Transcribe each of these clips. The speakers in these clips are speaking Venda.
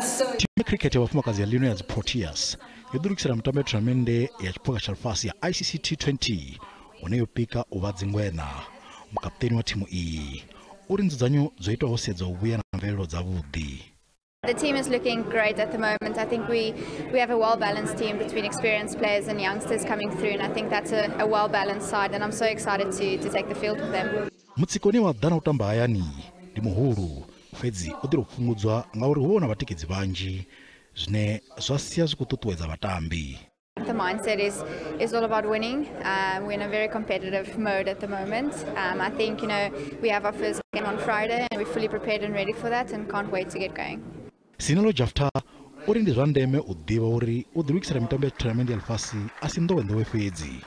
Thimu ya cricket ya vhafumakadzi ya lino ya dzi Proteas yo ḓilugisela mutambo ya thonamennde ya tshiphuga tsha ḽifhasi ya ICC T20 hune yo pika u vha dzingwena. Mukaputeni wa thimu iyi uri nzudzanyo dzo itwaho sedza u vhuya na mvelelo dzavhuḓi. The team is looking great at the moment. I think we have a well-balanced team between experienced players and youngsters coming through, and I think that's a well-balanced side, and I'm so excited to take the field with them. Mutsiko une wa ḓa na u tamba hayani ndi muhulu, fhedzi u ḓi tou fhungudzwa ngauri hu vha hu na vhatikedzi vhanzhi, zwine zwa sia zwi khou ṱuṱuwedza vhatambi. The mindset is all about winning. We're in a very competitive mode at the moment. I think we have our first game on Friday and we're fully prepared and ready for that and can't wait to get going. Sinalo Jafta uri ndi zwa ndeme u ḓivha uri u ḓilugisela mitambo ya tournament ya ḽifhasi a si nḓowenḓowe fhedzi.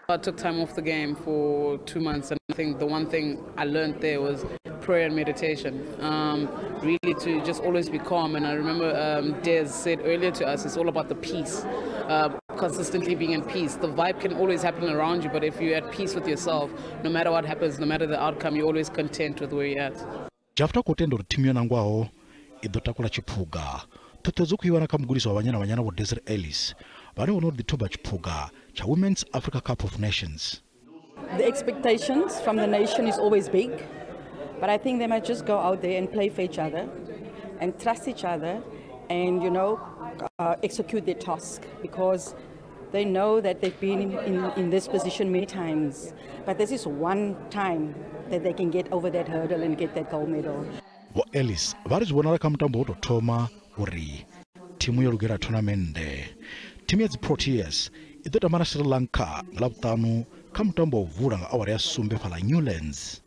I took time off the game for 2 months, and I think the one thing I learned there was prayer and meditation. Really to just always be calm. And I remember Des said earlier to us, it's all about the peace, consistently being in peace. The vibe can always happen around you, but if you're at peace with yourself, no matter what happens, no matter the outcome, you're always content with where you're at. Jafta khou tenda uri thimu yo nangwaho i ḓo takula tshiphuga. Ṱhuṱhuwedzo khou i wana kha mugudisi wa Banyana Banyana Vho Desiree Ellis, vhane vho no ḓi thuba tshiphuga tsha Women's Africa Cup of Nations. The expectations from the nation is always big, but I think they might just go out there and play for each other and trust each other and execute their task, because they know that they've been in this position many times, but this is one time that they can get over that hurdle and get that gold medal. Vho Ellis vha ri zwi vhonala kha mutambo wo tou thoma uri thimu yo lugela thonamennde. Thimu ya dzi Proteas i ḓo tamba na Sri Lanka nga Ḽavhuṱanu kha mutambo wa u vula nga awara ya sumbe fhaḽa Newlands.